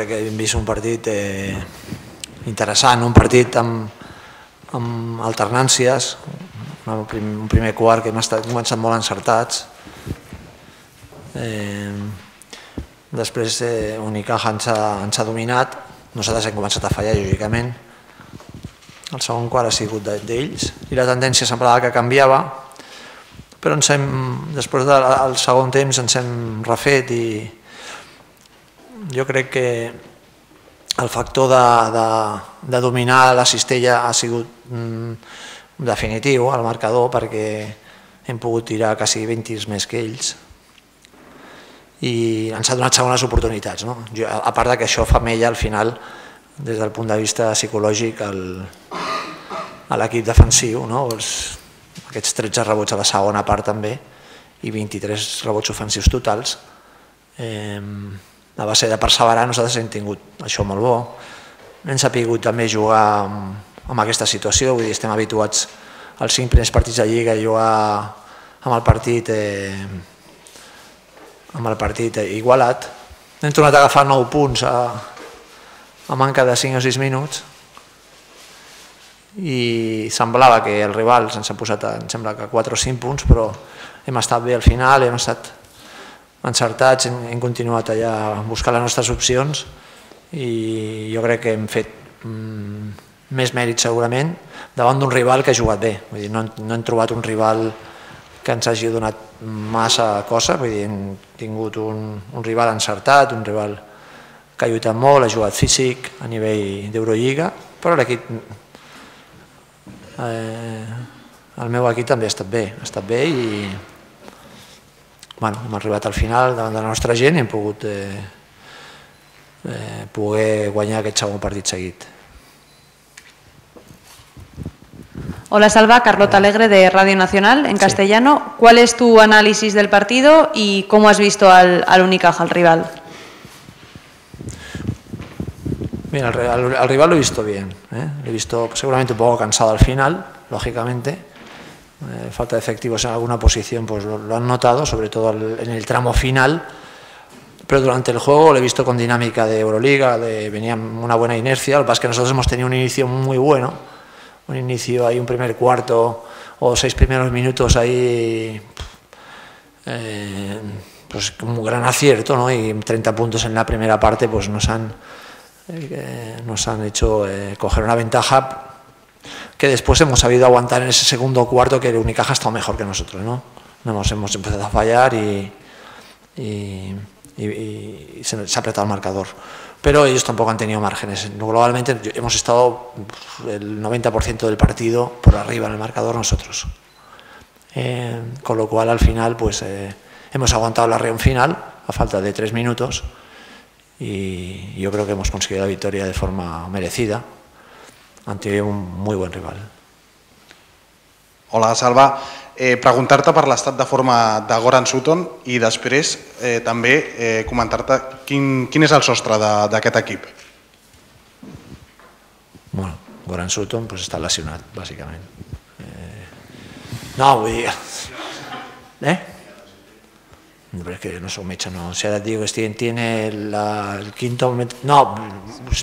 crec que hem vist un partit interessant, un partit amb alternàncies, un primer quart que hem començat molt encertats. Després Unicaja ens ha dominat, nosaltres hem començat a fallar lògicament, el segon quart ha sigut d'ells i la tendència semblava que canviava, però després del segon temps ens hem refet i jo crec que el factor de dominar la cistella ha sigut definitiu al marcador, perquè hem pogut tirar quasi 20 tirs més que ells i ens ha donat segones oportunitats. A part que això fa mella al final des del punt de vista psicològic a l'equip defensiu, aquests 13 rebots a la segona part també i 23 rebots ofensius totals. A base de perseverar nosaltres hem tingut això molt bo, hem sabut també jugar amb aquesta situació, vull dir, estem habituats als 5 primers partits de Lliga a jugar amb el partit igualat. Hem tornat a agafar 9 punts a manca de 5 o 6 minuts i semblava que el rival ens ha posat, em sembla que 4 o 5 punts, però hem estat bé al final, hem estat encertats, hem continuat allà buscant les nostres opcions i jo crec que hem fet més mèrit segurament davant d'un rival que ha jugat bé. Vull dir, no hem trobat un rival que ens hagi donat massa cosa, vull dir, hem tingut un rival encertat, un rival que ha lluitat molt, ha jugat físic a nivell d'Eurolliga, però l'equip, el meu equip també ha estat bé i hem arribat al final davant de la nostra gent i hem pogut poder guanyar aquest segon partit seguit. Hola Salva, Carlota Alegre de Radio Nacional en castellano. ¿Cuál es tu análisis del partido y cómo has visto al Unicaja, al rival? Mira, al rival lo he visto bien, lo he visto seguramente un poco cansado al final, lógicamente. Falta de efectivos en alguna posición, pues lo han notado, sobre todo en el tramo final, pero durante el juego lo he visto con dinámica de Euroliga, venía una buena inercia. Lo que pasa es que nosotros hemos tenido un inicio muy bueno, un inicio ahí, un primer cuarto o 6 primeros minutos ahí, pues como un gran acierto, ¿no? Y 30 puntos en la primera parte pues nos han hecho coger una ventaja que después hemos sabido aguantar en ese segundo cuarto, que el Unicaja ha estado mejor que nosotros, ¿no? Hemos empezado a fallar y se ha apretado el marcador. Pero ellos tampoco han tenido márgenes. Globalmente hemos estado el 90% del partido por arriba en el marcador nosotros. Con lo cual al final pues hemos aguantado la reunión final a falta de 3 minutos y yo creo que hemos conseguido la victoria de forma merecida ante un muy buen rival. Hola Salva, preguntar-te per l'estat de forma de Goran Sutton i després també comentar-te quin és el sostre d'aquest equip. Bueno, Goran Sutton pues està lesionat, bàsicament. No, vull dir... Es que no soy metge, no. Si ara et diu que tiene el quinto... No,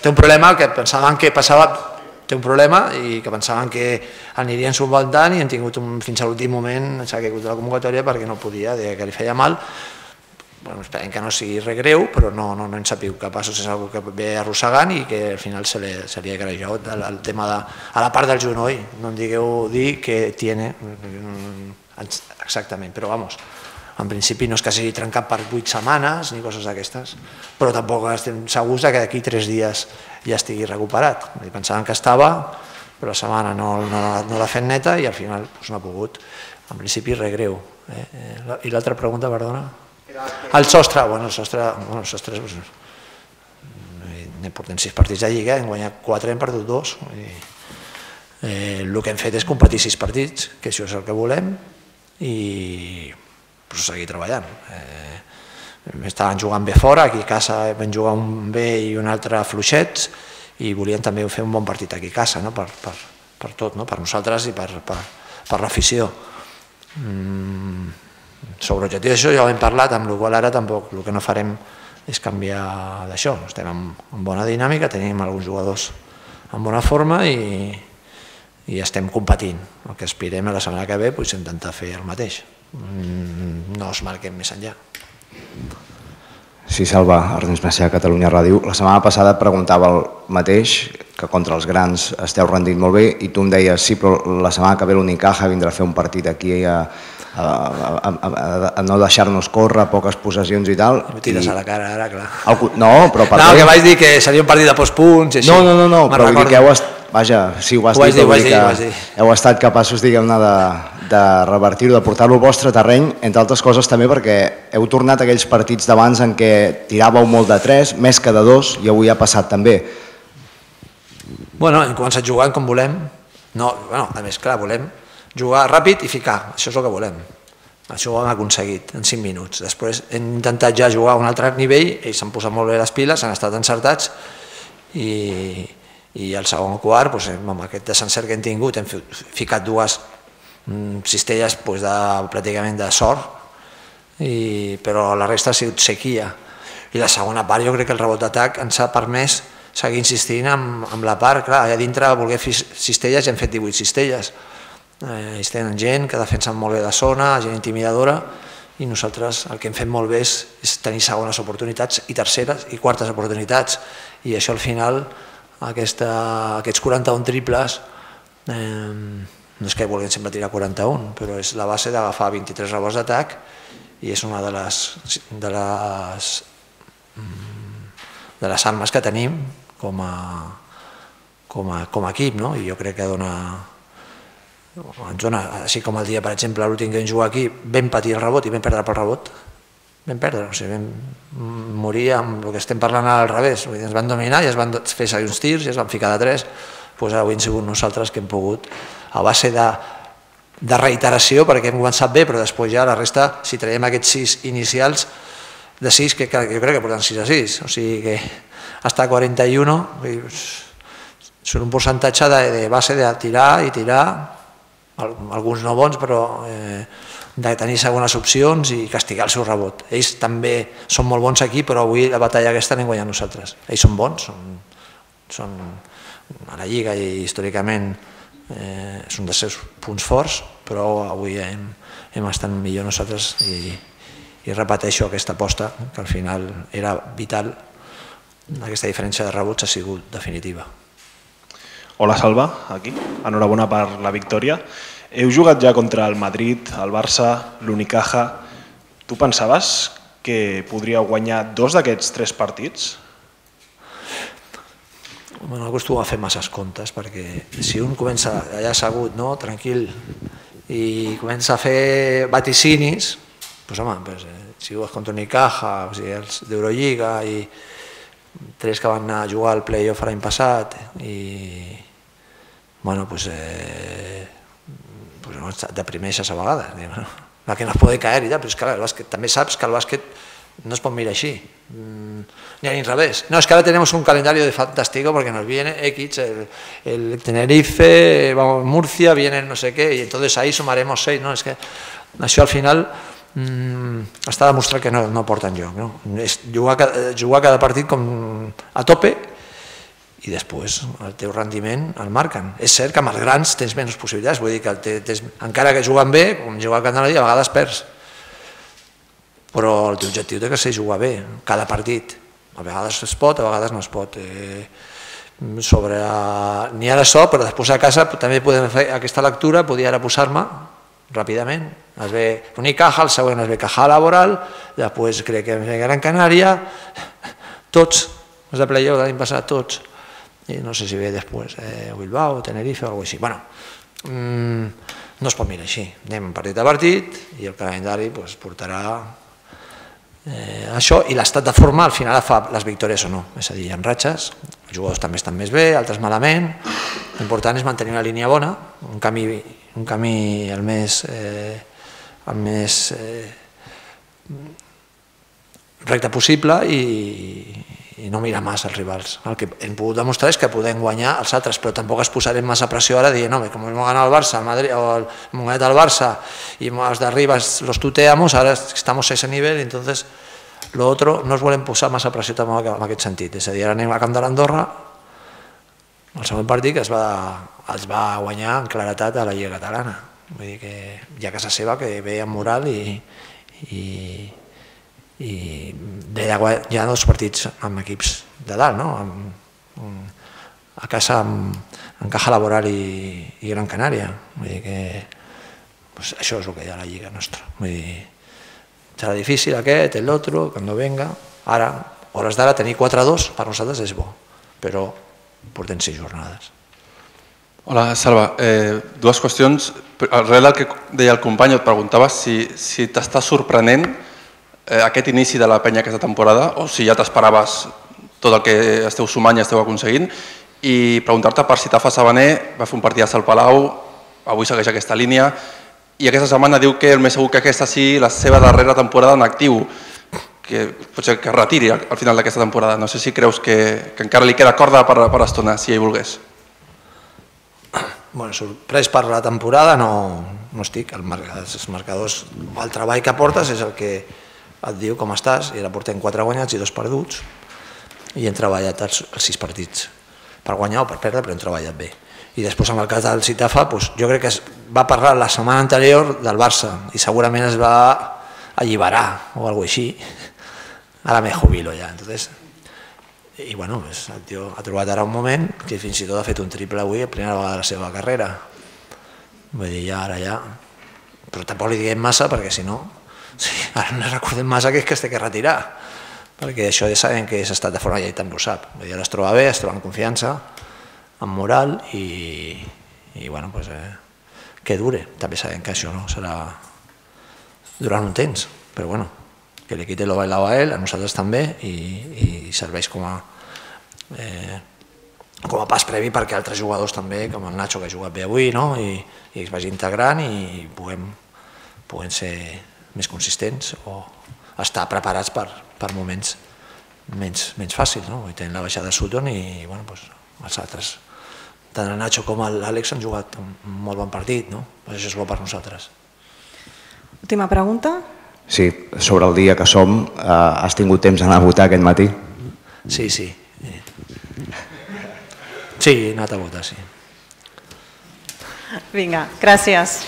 té un problema que pensaven que passava... Té un problema i que pensaven que anirien subventant i han tingut fins a l'últim moment, s'ha caigut de la convocatòria perquè no podia, que li feia mal. Esperem que no sigui res greu, però no hem sabut capaços, és una cosa que ve arrossegant i que al final se li ha grejat el tema a la part del genoll. No em digueu dir que tiene exactament, però vamos, en principi no és que sigui trencat per 8 setmanes ni coses d'aquestes, però tampoc estem segurs que d'aquí 3 dies ja estigui recuperat. Pensaven que estava, però la setmana no l'ha fet neta i al final no ha pogut. En principi res greu. I l'altra pregunta, perdona? El sostre, el sostre portem 6 partits de Lliga, hem guanyat 4, hem perdut 2. El que hem fet és competir 6 partits, que això és el que volem, i seguir treballant. Estaven jugant bé fora, aquí a casa vam jugar un bé i un altre fluixets i volíem també fer un bon partit aquí a casa, per tot, per nosaltres i per l'afició. Sobre l'objectiu d'això ja ho hem parlat, amb la qual ara tampoc el que no farem és canviar d'això. Estem en bona dinàmica, tenim alguns jugadors en bona forma i estem competint. El que aspirem a la setmana que ve és intentar fer el mateix. No es marquem més enllà. Sí, Salva, Ernest Macià, Catalunya Ràdio. La setmana passada et preguntava el mateix, que contra els grans esteu rendint molt bé, i tu em deies, sí, però la setmana que ve l'Unicaja vindrà a fer un partit aquí a no deixar-nos córrer, poques possessions i tal. Em tires a la cara ara, clar. No, però per no, que vaig dir que seria un partit de postpunts i així. No, però vull dir que vaja, sí, ho has dit, que heu estat capaços, diguem-ne, de revertir-ho, de portar-lo al vostre terreny, entre altres coses també perquè heu tornat a aquells partits d'abans en què tiràveu molt de 3, més que de 2, i avui ha passat també. Bueno, hem començat jugant com volem. A més, clar, volem jugar ràpid i ficar, això és el que volem. Això ho hem aconseguit en 5 minuts. Després hem intentat ja jugar a un altre nivell, ells s'han posat molt bé les piles, han estat encertats i al segon quart, amb aquest desencert que hem tingut, hem ficat 2 cistelles pràcticament de sort, però la resta ha sigut sequia. I la segona part, jo crec que el rebot d'atac ens ha permès seguir insistint amb la part, clar, allà dintre voler fer cistelles i hem fet 18 cistelles. Ells tenen gent que defensen molt bé la zona, gent intimidadora, i nosaltres el que hem fet molt bé és tenir segones oportunitats i terceres i quartes oportunitats, i això al final, aquests 41 triples, no és que vulguin sempre tirar 41, però és la base d'agafar 23 rebots d'atac i és una de les armes que tenim com a equip, i jo crec que ens dona, així com el dia, per exemple, l'últim que vam jugar aquí, vam patir el rebot i vam perdre pel rebot, vam morir amb el que estem parlant al revés, ens van dominar i es van fer seguir uns tirs i es van ficar de 3, doncs avui hem sigut nosaltres que hem pogut, a base de reiteració, perquè hem començat bé, però després ja la resta, si traiem aquests 6 inicials, de 6, que jo crec que porten 6 a 6, o sigui que hasta 41, són un percentatge de base de tirar i tirar, alguns no bons, però de tenir segones opcions i castigar el seu rebot. Ells també són molt bons aquí, però avui la batalla aquesta l'hem guanyat nosaltres. Ells són bons, són a la Lliga i històricament és un dels seus punts forts, però avui hem estat millor nosaltres i repeteixo aquesta aposta, que al final era vital, aquesta diferència de rebots ha sigut definitiva. Hola Salva, aquí. Enhorabona per la victòria. Heu jugat ja contra el Madrid, el Barça, l'Unicaja. Tu pensaves que podríeu guanyar 2 d'aquests 3 partits? No acostumo a fer masses comptes, perquè si un comença allà assegut, tranquil, i comença a fer vaticinis, si jugues contra Unicaja, els d'Eurolliga, i 3 que van anar a jugar al play-off l'any passat, i deprimeixes a vegades, la que no es pot caer, però és que també saps que el bàsquet no es pot mirar així, ni a l'inrevés. No, es que ahora tenemos un calendario de fantástico porque nos viene X, el Tenerife, Murcia, viene no sé qué, y entonces ahí sumaremos 6, no, és que això al final està demostrat que no porta enlloc, és jugar cada partit com a tope i després el teu rendiment el marquen. És cert que amb els grans tens menys possibilitats, vull dir que encara que juguen bé, com jugar a Canadà, a vegades perds, però el teu objectiu té que ser jugar bé, cada partit. A vegades es pot, a vegades no es pot. N'hi ha de so, però després a casa també podem fer aquesta lectura, podia ara posar-me ràpidament. Es ve Unicaja, el següent es ve Caja Laboral, després crec que es ve Gran Canària, tots, els de playoff de l'any passat, tots. I no sé si ve després Bilbao, Tenerife o alguna cosa així. Bueno, no es pot mirar així. Anem partit a partit i el calendari portarà això, i l'estat de forma al final fa les victòries o no, és a dir, hi ha ratxes, els jugadors també estan més bé, altres malament, l'important és mantenir una línia bona, un camí el més recte possible i no mirar massa els rivals. El que hem pogut demostrar és que podem guanyar els altres, però tampoc es posarem massa pressió ara dient, no, com hem ganat el Barça, el Madrid, o hem guanyat el Barça i els d'arriba los tuteamos, ahora estamos a ese nivel, entonces L'altre, no es volem posar massa pressió també en aquest sentit, és a dir, ara anem a Camp de l'Andorra, el següent partit que es va guanyar en claretat a la Lliga Catalana, vull dir que hi ha casa seva que ve amb moral i hi ha dos partits amb equips de dalt, no? A casa amb Caja Laboral i Gran Canària, vull dir que això és el que hi ha a la Lliga nostra, vull dir, serà difícil aquest, l'altre, quan venga, ara, hores d'ara, tenir 4-2 per nosaltres és bo, però portem 6 jornades. Hola, Salva. Dues qüestions. Arrel del que deia el company, et preguntava si t'està sorprenent aquest inici de la penya aquesta temporada o si ja t'esperaves tot el que esteu sumant i esteu aconseguint, i preguntar-te per si Tafa Sabaner va fer un partit a Sal Palau, avui segueix aquesta línia, i aquesta setmana diu que el més segur que aquesta sigui la seva darrera temporada en actiu, que potser que es retiri al final d'aquesta temporada. No sé si creus que encara li queda corda per estona, si ell volgués. Bueno, sorprès per la temporada no estic. Els marcadors, el treball que portes és el que et diu com estàs, i ara portem 4 guanyats i 2 perduts, i hem treballat els 6 partits per guanyar o per perdre, però hem treballat bé. I després, en el cas del Citafa, jo crec que es va parlar la setmana anterior del Barça i segurament es va alliberar o alguna cosa així. Ara me jubilo ja. I bueno, el tio ha trobat ara un moment que fins i tot ha fet un triple avui, la primera vegada de la seva carrera. Vull dir, ara ja... Però tampoc li diguem massa perquè si no... Ara no recordem massa que es té que retirar, perquè això ja sabem que és estat de forma, ja també ho sap. Ara es troba bé, es troba en confiança, amb moral i bueno, que dure. També sabem que això no serà durant un temps, però bueno, que li quite lo bailado a ell, a nosaltres també, i serveix com a pas previ perquè altres jugadors també, com el Nacho, que ha jugat bé avui, i es vagi integrant i puguem ser més consistents o estar preparats per moments menys fàcils. Avui tenim la baixada de Sutton i els altres, tant el Nacho com l'Àlex, han jugat un molt bon partit, això és bo per nosaltres. Última pregunta. Sí, sobre el dia que som, has tingut temps d'anar a votar aquest matí? Sí. Sí, he anat a votar, sí. Vinga, gràcies.